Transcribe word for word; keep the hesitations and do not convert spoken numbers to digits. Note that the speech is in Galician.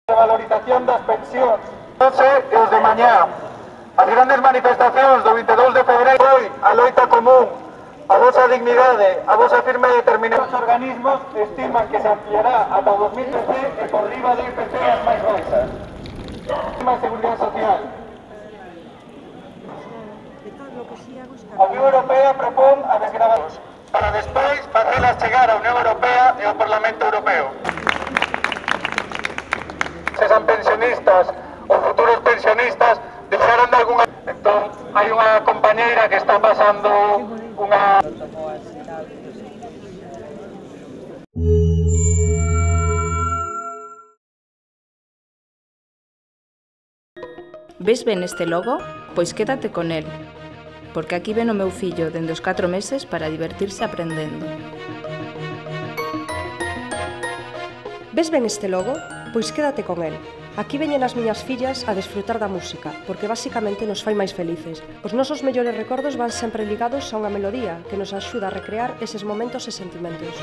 A valorización das pensións. Hoxe e os de mañá. As grandes manifestacións do vinte e dous de febreiro, hoy, a loita común, a vosa dignidade, a vosa firme determinación. Os organismos estiman que se ampliará ata o dos mil trece e por riba do I P C as máis baixas. A Seguridade Social. A Unión Europea propón a desgravación para despois facelas chegar á Unión Europea e ao Parlamento Europeo. Se son pensionistas ou futuros pensionistas deixaron de algunha... Entón, hai unha compañeira que está pasando unha... Ves ben este logo? Pois quédate con el, porque aquí ven o meu fillo dende os catro meses para divertirse aprendendo. Ves ben este logo? Pois quédate con el. Aquí veñen as miñas fillas a desfrutar da música, porque basicamente nos fai máis felices. Os nosos mellores recordos van sempre ligados a unha melodía que nos axuda a recrear eses momentos e sentimentos.